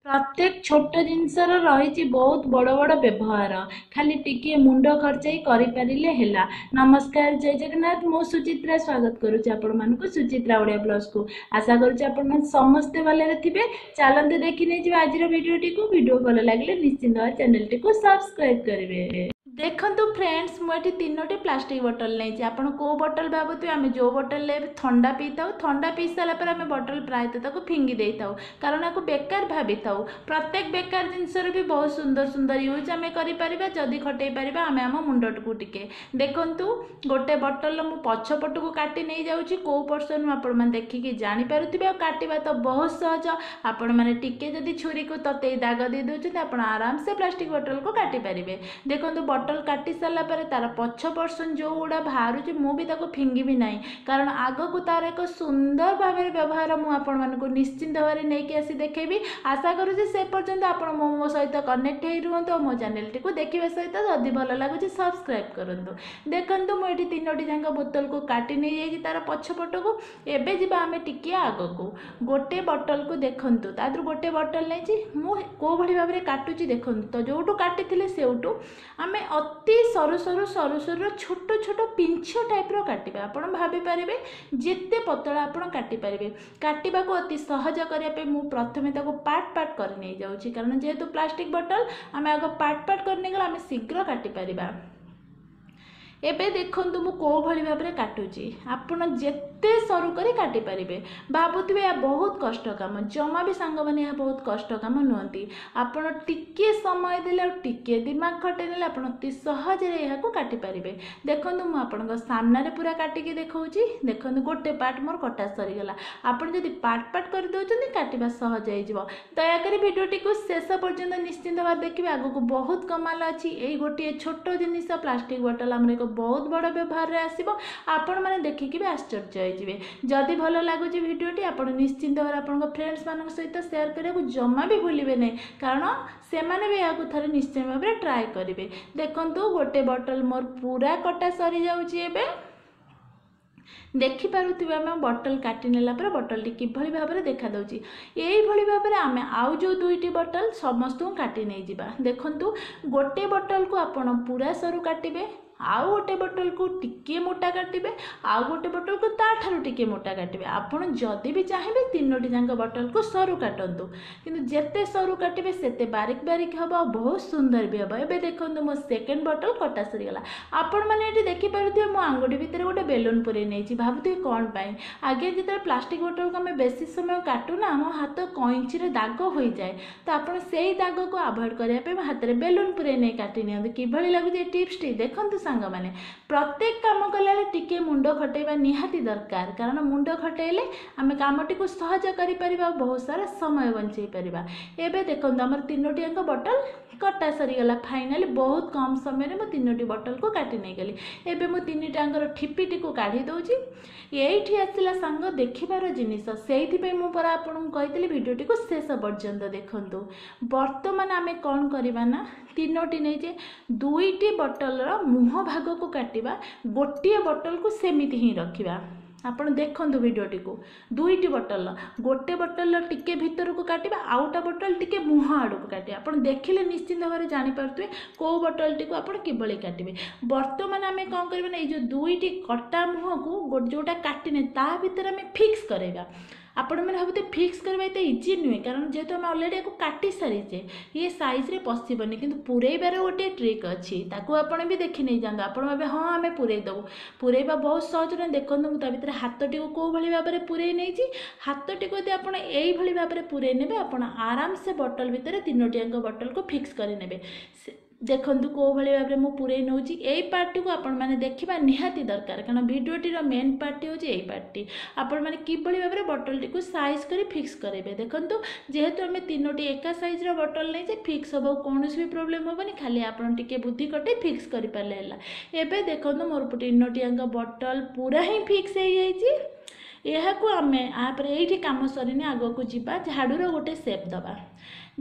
ପ୍ରତ୍ୟେକ ଛୋଟ ଜିନିଷର ରହିଛି ବହୁତ ବଡ଼ ବଡ଼ ବ୍ୟବହାର, ଖାଲି ଟିକିଏ ମୁଣ୍ଡ ଖର୍ଚ୍ଚେଇ କରିପାରିଲେ ହେଲା। ନମସ୍କାର, ଜୟ ଜଗନ୍ନାଥ। ମୁଁ ସୁଚିତ୍ରା ସ୍ୱାଗତ କରୁଛି ଆପଣମାନଙ୍କୁ ସୁଚିତ୍ରା ଓଡ଼ିଆ ବ୍ଲଗ୍ସକୁ। ଆଶା କରୁଛି ଆପଣମାନେ ସମସ୍ତେ ଭଲରେ ଥିବେ। ଚାଲନ୍ତୁ ଦେଖି ନେଇଯିବା ଆଜିର ଭିଡ଼ିଓଟିକୁ। ଭିଡ଼ିଓ ଭଲ ଲାଗିଲେ ନିଶ୍ଚିନ୍ତ ଚ୍ୟାନେଲଟିକୁ ସବସ୍କ୍ରାଇବ୍ କରିବେ। ଦେଖନ୍ତୁ ଫ୍ରେଣ୍ଡସ୍, ମୁଁ ଏଠି 3ଟି ପ୍ଲାଷ୍ଟିକ୍ ବୋଟଲ ନେଇଛି। ଆପଣ କେଉଁ ବୋଟଲ ଭାବୁଥିବେ? ଆମେ ଯେଉଁ ବୋଟଲରେ ଥଣ୍ଡା ପିଇଥାଉ, ଥଣ୍ଡା ପିଇ ସାରିଲା ପରେ ଆମେ ବୋଟଲ ପ୍ରାୟତଃ ତାକୁ ଫିଙ୍ଗି ଦେଇଥାଉ, କାରଣ ଏହାକୁ ବେକାର ଭାବିଥାଉ। ପ୍ରତ୍ୟେକ ବେକାର ଜିନିଷର ବି ବହୁତ ସୁନ୍ଦର ସୁନ୍ଦର ୟୁଜ୍ ଆମେ କରିପାରିବା, ଯଦି ଖଟେଇ ପାରିବା ଆମେ ଆମ ମୁଣ୍ଡଟିକୁ ଟିକେ। ଦେଖନ୍ତୁ, ଗୋଟେ ବୋଟଲର ମୁଁ ପଛ ପଟକୁ କାଟି ନେଇଯାଉଛି। କେଉଁ ପର୍ସନ୍ ଆପଣମାନେ ଦେଖିକି ଜାଣିପାରୁଥିବେ। ଆଉ କାଟିବା ତ ବହୁତ ସହଜ। ଆପଣମାନେ ଟିକେ ଯଦି ଛୁରୀକୁ ତତେଇ ଦାଗ ଦେଇ ଦେଉଛନ୍ତି, ଆପଣ ଆରାମସେ ପ୍ଲାଷ୍ଟିକ୍ ବୋଟଲକୁ କାଟିପାରିବେ। ଦେଖନ୍ତୁ, ବୋଟଲ କାଟି ସାରିଲା ପରେ ତାର ପଛ ପର୍ସନ୍ ଯେଉଁଗୁଡ଼ା ବାହାରୁଛି, ମୁଁ ବି ତାକୁ ଫିଙ୍ଗିବି ନାହିଁ, କାରଣ ଆଗକୁ ତାର ଏକ ସୁନ୍ଦର ଭାବରେ ବ୍ୟବହାର ମୁଁ ଆପଣମାନଙ୍କୁ ନିଶ୍ଚିନ୍ତ ଭାବରେ ନେଇକି ଆସି ଦେଖେଇବି। ଆଶା କରୁଛି ସେ ପର୍ଯ୍ୟନ୍ତ ଆପଣ ମୋ ସହିତ କନେକ୍ଟ ହେଇ ରୁହନ୍ତୁ, ଆଉ ମୋ ଚ୍ୟାନେଲଟିକୁ ଦେଖିବା ସହିତ ଯଦି ଭଲ ଲାଗୁଛି ସବସ୍କ୍ରାଇବ୍ କରନ୍ତୁ। ଦେଖନ୍ତୁ, ମୁଁ ଏଠି 3ଟି ଯାକ ବୋତଲକୁ କାଟି ନେଇଯାଇଛି ତାର ପଛ ପଟକୁ। ଏବେ ଯିବା ଆମେ ଟିକିଏ ଆଗକୁ। ଗୋଟେ ବୋଟଲକୁ ଦେଖନ୍ତୁ, ତା ଦେହରୁ ଗୋଟେ ବୋଟଲ ନେଇଛି ମୁଁ। କେଉଁ ଭଳି ଭାବରେ କାଟୁଛି ଦେଖନ୍ତୁ। ତ ଯେଉଁଠୁ କାଟିଥିଲେ ସେଇଠୁ ଆମେ ଅତି ସରୁ ସରୁ ସରୁ ସରୁ ଛୋଟ ଛୋଟ ପିଞ୍ଛ ଟାଇପ୍ର କାଟିବା। ଆପଣ ଭାବିପାରିବେ ଯେତେ ପତଳା ଆପଣ କାଟିପାରିବେ। କାଟିବାକୁ ଅତି ସହଜ କରିବା ପାଇଁ ମୁଁ ପ୍ରଥମେ ତାକୁ ପାର୍ଟ ପାର୍ଟ କରି ନେଇଯାଉଛି, କାରଣ ଯେହେତୁ ପ୍ଲାଷ୍ଟିକ୍ ବୋଟଲ, ଆମେ ଆଗ ପାର୍ଟ ପାର୍ଟ କରି ନେଇଗଲେ ଆମେ ଶୀଘ୍ର କାଟିପାରିବା। ଏବେ ଦେଖନ୍ତୁ ମୁଁ କେଉଁ ଭଳି ଭାବରେ କାଟୁଛି। ଆପଣ ଯେତେ ସରୁ କରି କାଟିପାରିବେ। ଭାବୁଥିବେ ଏହା ବହୁତ କଷ୍ଟ କାମ। ଜମା ବି ସାଙ୍ଗମାନେ ଏହା ବହୁତ କଷ୍ଟ କାମ ନୁହନ୍ତି। ଆପଣ ଟିକିଏ ସମୟ ଦେଲେ ଆଉ ଟିକିଏ ଦିମାଗ ଖଟେଇ ନେଲେ ଆପଣ ଅତି ସହଜରେ ଏହାକୁ କାଟିପାରିବେ। ଦେଖନ୍ତୁ, ମୁଁ ଆପଣଙ୍କ ସାମ୍ନାରେ ପୁରା କାଟିକି ଦେଖାଉଛି। ଦେଖନ୍ତୁ, ଗୋଟେ ପାର୍ଟ ମୋର କଟା ସରିଗଲା। ଆପଣ ଯଦି ପାର୍ଟ ପାର୍ଟ କରିଦେଉଛନ୍ତି, କାଟିବା ସହଜ ହେଇଯିବ। ଦୟାକରି ଭିଡ଼ିଓଟିକୁ ଶେଷ ପର୍ଯ୍ୟନ୍ତ ନିଶ୍ଚିନ୍ତ ଭାବେ ଦେଖିବେ, ଆଗକୁ ବହୁତ କମାଲ ଅଛି। ଏଇ ଗୋଟିଏ ଛୋଟ ଜିନିଷ ପ୍ଲାଷ୍ଟିକ୍ ବୋଟଲ ଆମର ଏକ ବହୁତ ବଡ଼ ବ୍ୟବହାରରେ ଆସିବ, ଆପଣମାନେ ଦେଖିକି ବି ଆଶ୍ଚର୍ଯ୍ୟ ହେଇଯିବେ। ଯଦି ଭଲ ଲାଗୁଛି ଭିଡ଼ିଓଟି, ଆପଣ ନିଶ୍ଚିନ୍ତ ଭାବରେ ଆପଣଙ୍କ ଫ୍ରେଣ୍ଡସ୍ମାନଙ୍କ ସହିତ ସେୟାର କରିବାକୁ ଜମା ବି ଭୁଲିବେ ନାହିଁ, କାରଣ ସେମାନେ ବି ଏହାକୁ ଥରେ ନିଶ୍ଚୟ ଭାବରେ ଟ୍ରାଏ କରିବେ। ଦେଖନ୍ତୁ, ଗୋଟେ ବଟଲ ମୋର ପୁରା କଟା ସରିଯାଉଛି। ଏବେ ଦେଖିପାରୁଥିବେ ଆମେ ବଟଲ କାଟି ନେଲା ପରେ ବଟଲଟି କିଭଳି ଭାବରେ ଦେଖାଦେଉଛି। ଏଇଭଳି ଭାବରେ ଆମେ ଆଉ ଯେଉଁ 2ଟି ବଟଲ ସମସ୍ତଙ୍କୁ କାଟି ନେଇଯିବା। ଦେଖନ୍ତୁ, ଗୋଟେ ବଟଲକୁ ଆପଣ ପୁରା ସରୁ କାଟିବେ, ଆଉ ଗୋଟେ ବୋଟଲକୁ ଟିକିଏ ମୋଟା କାଟିବେ, ଆଉ ଗୋଟେ ବୋଟଲକୁ ତାଠାରୁ ଟିକିଏ ମୋଟା କାଟିବେ। ଆପଣ ଯଦି ବି ଚାହିଁବେ 3ଟି ଯାକ ବୋଟଲକୁ ସରୁ କାଟନ୍ତୁ, କିନ୍ତୁ ଯେତେ ସରୁ କାଟିବେ ସେତେ ବାରିକ ବାରିକ ହେବ ଆଉ ବହୁତ ସୁନ୍ଦର ବି ହେବ। ଏବେ ଦେଖନ୍ତୁ, ମୋ ସେକେଣ୍ଡ ବୋଟଲ କଟା ସରିଗଲା। ଆପଣମାନେ ଏଠି ଦେଖିପାରୁଥିବେ ମୋ ଆଙ୍ଗୁଠି ଭିତରେ ଗୋଟେ ବେଲୁନ୍ ପୁରେଇ ନେଇଛି। ଭାବୁଥିବେ କ'ଣ ପାଇଁ? ଆଜ୍ଞା, ଯେତେବେଳେ ପ୍ଲାଷ୍ଟିକ୍ ବୋଟଲକୁ ଆମେ ବେଶୀ ସମୟ କାଟୁନା, ଆମ ହାତ କଇଁଚିରେ ଦାଗ ହୋଇଯାଏ। ତ ଆପଣ ସେଇ ଦାଗକୁ ଆଭଏଡ଼ କରିବା ପାଇଁ ହାତରେ ବେଲୁନ୍ ପୁରେଇ ନେଇ କାଟି ନିଅନ୍ତୁ। କିଭଳି ଲାଗୁଛି ଏ ଟିପ୍ସଟି? ଦେଖନ୍ତୁ ସାଙ୍ଗମାନେ, ପ୍ରତ୍ୟେକ କାମ କଲାବେଳେ ଟିକେ ମୁଣ୍ଡ ଖଟେଇବା ନିହାତି ଦରକାର, କାରଣ ମୁଣ୍ଡ ଖଟେଇଲେ ଆମେ କାମଟିକୁ ସହଜ କରିପାରିବା ଆଉ ବହୁତ ସାରା ସମୟ ବଞ୍ଚେଇ ପାରିବା। ଏବେ ଦେଖନ୍ତୁ, ଆମର 3ଟି ଯାକ ବୋଟଲ କଟା ସରିଗଲା। ଫାଇନାଲି ବହୁତ କମ୍ ସମୟରେ ମୁଁ 3ଟି ବୋଟଲକୁ କାଟି ନେଇଗଲି। ଏବେ ମୁଁ 3ଟାଙ୍କର ଠିପିଟିକୁ କାଢ଼ି ଦେଉଛି। ଏଇଠି ଆସିଲା ସାଙ୍ଗ ଦେଖିବାର ଜିନିଷ, ସେଇଥିପାଇଁ ମୁଁ ପରା ଆପଣଙ୍କୁ କହିଥିଲି ଭିଡ଼ିଓଟିକୁ ଶେଷ ପର୍ଯ୍ୟନ୍ତ ଦେଖନ୍ତୁ। ବର୍ତ୍ତମାନ ଆମେ କ'ଣ କରିବା ନା, 3ଟି ନେଇଛେ, 2ଟି ବୋଟଲର ମୁହଁ ଭାଗକୁ କାଟିବା, ଗୋଟିଏ ବୋଟଲକୁ ସେମିତି ହିଁ ରଖିବା। ଆପଣ ଦେଖନ୍ତୁ ଭିଡ଼ିଓଟିକୁ। 2ଟି ବୋଟଲର, ଗୋଟେ ବୋଟଲର ଟିକେ ଭିତରକୁ କାଟିବା, ଆଉଟା ବୋଟଲ ଟିକେ ମୁହଁ ଆଡ଼କୁ କାଟିବା। ଆପଣ ଦେଖିଲେ ନିଶ୍ଚିନ୍ତ ଭାବରେ ଜାଣିପାରୁଥିବେ କେଉଁ ବୋଟଲଟିକୁ ଆପଣ କିଭଳି କାଟିବେ। ବର୍ତ୍ତମାନ ଆମେ କ'ଣ କରିବା ନା, ଏଇ ଯେଉଁ 2ଟି କଟା ମୁହଁକୁ ଯେଉଁଟା କାଟିନେ ତା ଭିତରେ ଆମେ ଫିକ୍ସ କରାଇବା। ଆପଣମାନେ ଭାବୁଥିବେ ଫିକ୍ସ କରିବା ଏତେ ଇଜି ନୁହେଁ, କାରଣ ଯେହେତୁ ଆମେ ଅଲରେଡ଼ି ୟାକୁ କାଟି ସାରିଛେ, ଇଏ ସାଇଜ୍ରେ ପଶିବନି। କିନ୍ତୁ ପୁରେଇବାର ଗୋଟିଏ ଟ୍ରିକ୍ ଅଛି, ତାକୁ ଆପଣ ବି ଦେଖି ନେଇଯାଆନ୍ତୁ। ଆପଣ ଭାବେ ହଁ ଆମେ ପୁରେଇ ଦେବୁ, ପୁରେଇବା ବହୁତ ସହଜ ନୁହେଁ। ଦେଖନ୍ତୁ, ମୁଁ ତା ଭିତରେ ହାତଟିକୁ କେଉଁ ଭଳି ଭାବରେ ପୁରେଇ ନେଇଛି। ହାତଟିକୁ ଯଦି ଆପଣ ଏଇଭଳି ଭାବରେ ପୁରେଇ ନେବେ, ଆପଣ ଆରାମସେ ବଟଲ ଭିତରେ 3ଟି ଯାକ ବଟଲକୁ ଫିକ୍ସ କରିନେବେ। ଦେଖନ୍ତୁ କେଉଁ ଭଳି ଭାବରେ ମୁଁ ପୁରେଇ ନେଉଛି। ଏଇ ପାର୍ଟଟିକୁ ଆପଣମାନେ ଦେଖିବା ନିହାତି ଦରକାର, କାରଣ ଭିଡ଼ିଓଟିର ମେନ୍ ପାର୍ଟଟି ହେଉଛି ଏଇ ପାର୍ଟଟି, ଆପଣମାନେ କିଭଳି ଭାବରେ ବଟଲଟିକୁ ସାଇଜ୍ କରି ଫିକ୍ସ କରାଇବେ। ଦେଖନ୍ତୁ, ଯେହେତୁ ଆମେ 3ଟି ଏକା ସାଇଜ୍ର ବଟଲ ନେଇଛେ, ଫିକ୍ସ ହେବାକୁ କୌଣସି ବି ପ୍ରୋବ୍ଲେମ୍ ହେବନି। ଖାଲି ଆପଣ ଟିକେ ବୁଦ୍ଧି କଟେଇ ଫିକ୍ସ କରିପାରିଲେ ହେଲା। ଏବେ ଦେଖନ୍ତୁ, ମୋର 3ଟି ଯାକ ବଟଲ ପୁରା ହିଁ ଫିକ୍ସ ହେଇଯାଇଛି। ଏହାକୁ ଆମେ ଆପରେ ଏଇଠି କାମ ସରିନି, ଆଗକୁ ଯିବା। ଝାଡ଼ୁର ଗୋଟେ ସେପ୍ ଦେବା।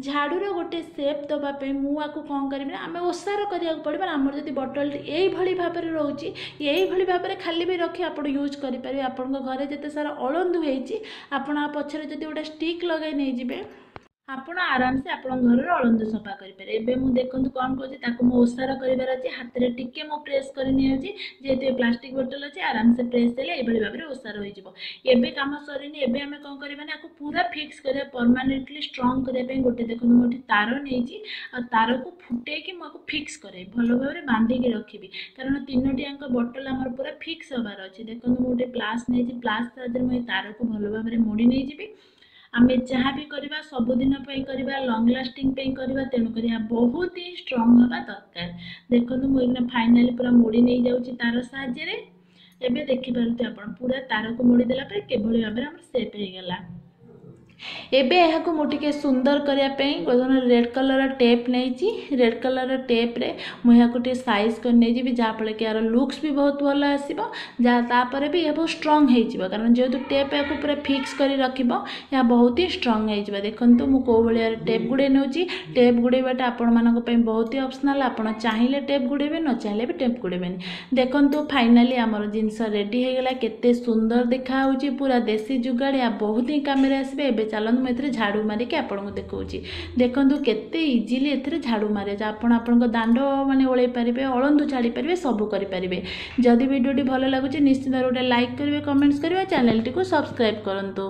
ଝାଡ଼ୁର ଗୋଟେ ସେପ୍ ଦେବା ପାଇଁ ମୁଁ ଆକୁ କ'ଣ କରିବି ନା, ଆମେ ଓସାର କରିବାକୁ ପଡ଼ିବ। ଆମର ଯଦି ବଟଲଟି ଏଇଭଳି ଭାବରେ ରହୁଛି, ଏଇଭଳି ଭାବରେ ଖାଲି ବି ରଖି ଆପଣ ୟୁଜ୍ କରିପାରିବେ। ଆପଣଙ୍କ ଘରେ ଯେତେ ସାରା ଅଳନ୍ଧୁ ହେଇଛି, ଆପଣ ଆ ପଛରେ ଯଦି ଗୋଟେ ଷ୍ଟିକ୍ ଲଗାଇ ନେଇଯିବେ, ଆପଣ ଆରାମସେ ଆପଣଙ୍କ ଘରର ଅଳନ୍ଧୁ ସଫା କରିପାରିବେ। ଏବେ ମୁଁ ଦେଖନ୍ତୁ କ'ଣ କରୁଛି, ତାକୁ ମୁଁ ଓସାର କରିବାର ଅଛି। ହାତରେ ଟିକେ ମୁଁ ପ୍ରେସ୍ କରି ନେଇଯାଉଛି, ଯେହେତୁ ଏ ପ୍ଲାଷ୍ଟିକ୍ ବୋଟଲ୍ ଅଛି, ଆରାମସେ ପ୍ରେସ୍ ହେଲେ ଏଇଭଳି ଭାବରେ ଓସାର ହୋଇଯିବ। ଏବେ କାମ ସରିନି। ଏବେ ଆମେ କ'ଣ କରିବା ନା ଆକୁ ପୁରା ଫିକ୍ସ କରିବା, ପରମାନେଣ୍ଟଲି ଷ୍ଟ୍ରଙ୍ଗ କରିବା ପାଇଁ ଗୋଟେ ଦେଖନ୍ତୁ ମୁଁ ଏଠି ତାର ନେଇଛି, ଆଉ ତାରକୁ ଫୁଟେଇକି ମୁଁ ଆକୁ ଫିକ୍ସ କରେଇବି, ଭଲ ଭାବରେ ବାନ୍ଧିକି ରଖିବି, କାରଣ 3ଟି ଯାକ ବଟଲ୍ ଆମର ପୁରା ଫିକ୍ସ ହେବାର ଅଛି। ଦେଖନ୍ତୁ, ମୁଁ ଗୋଟେ ପ୍ଲାସ୍ ନେଇଛି, ପ୍ଲାସ୍ ସାହାଯ୍ୟରେ ମୁଁ ଏ ତାରକୁ ଭଲ ଭାବରେ ମୋଡ଼ି ନେଇଯିବି। ଆମେ ଯାହା ବି କରିବା ସବୁଦିନ ପାଇଁ କରିବା, ଲଙ୍ଗ୍ ଲାଷ୍ଟିଂ ପାଇଁ କରିବା, ତେଣୁକରି ଏହା ବହୁତ ହିଁ ଷ୍ଟ୍ରଙ୍ଗ ହେବା ଦରକାର। ଦେଖନ୍ତୁ, ମୁଁ ଏଇନା ଫାଇନାଲି ପୁରା ମୋଡ଼ି ନେଇଯାଉଛି ତାର ସାହାଯ୍ୟରେ। ଏବେ ଦେଖିପାରୁଥିବେ ଆପଣ, ପୁରା ତାରକୁ ମୋଡ଼ି ଦେଲା ପରେ କିଭଳି ଭାବରେ ଆମର ସେପ୍ ହେଇଗଲା। ଏବେ ଏହାକୁ ମୁଁ ଟିକେ ସୁନ୍ଦର କରିବା ପାଇଁ ଗୋଟେ ରେଡ଼୍ କଲର୍ର ଟେପ୍ ନେଇଛି। ରେଡ଼୍ କଲର୍ର ଟେପ୍ରେ ମୁଁ ଏହାକୁ ଟିକେ ସାଇଜ୍ କରି ନେଇଯିବି, ଯାହାଫଳରେ କି ଏହାର ଲୁକ୍ସ ବି ବହୁତ ଭଲ ଆସିବ, ଯାହା ତାପରେ ବି ଏହା ବହୁତ ଷ୍ଟ୍ରଙ୍ଗ ହେଇଯିବ, କାରଣ ଯେହେତୁ ଟେପ୍ ଏହାକୁ ପୁରା ଫିକ୍ସ କରି ରଖିବ, ଏହା ବହୁତ ହିଁ ଷ୍ଟ୍ରଙ୍ଗ ହେଇଯିବ। ଦେଖନ୍ତୁ ମୁଁ କେଉଁ ଭଳିଆ ଟେପ୍ ଗୁଡ଼େଇ ନେଉଛି। ଟେପ୍ ଗୁଡ଼େଇବାଟା ଆପଣମାନଙ୍କ ପାଇଁ ବହୁତ ହି ଅପସନାଲ୍। ଆପଣ ଚାହିଁଲେ ଟେପ୍ ଗୁଡ଼େଇବେ, ନ ଚାହିଁଲେ ବି ଟେପ୍ ଗୁଡ଼େଇବେନି। ଦେଖନ୍ତୁ, ଫାଇନାଲି ଆମର ଜିନିଷ ରେଡ଼ି ହେଇଗଲା। କେତେ ସୁନ୍ଦର ଦେଖାହେଉଛି, ପୁରା ଦେଶୀ ଯୁଗାଡ଼। ଏହା ବହୁତ ହିଁ କାମରେ ଆସିବେ। ଏବେ ଚାଲନ୍ତୁ, ମୁଁ ଏଥିରେ ଝାଡ଼ୁ ମାରିକି ଆପଣଙ୍କୁ ଦେଖାଉଛି। ଦେଖନ୍ତୁ କେତେ ଇଜିଲି ଏଥିରେ ଝାଡ଼ୁ ମାରିବ। ଆପଣ ଆପଣଙ୍କ ଦାଣ୍ଡ ମାନେ ଓଳେଇ ପାରିବେ, ଅଳନ୍ଧୁ ଝାଡ଼ି ପାରିବେ, ସବୁ କରିପାରିବେ। ଯଦି ଭିଡ଼ିଓଟି ଭଲ ଲାଗୁଛି, ନିଶ୍ଚିତ ଗୋଟେ ଲାଇକ୍ କରିବେ, କମେଣ୍ଟସ୍ କରିବେ, ଚ୍ୟାନେଲଟିକୁ ସବସ୍କ୍ରାଇବ୍ କରନ୍ତୁ।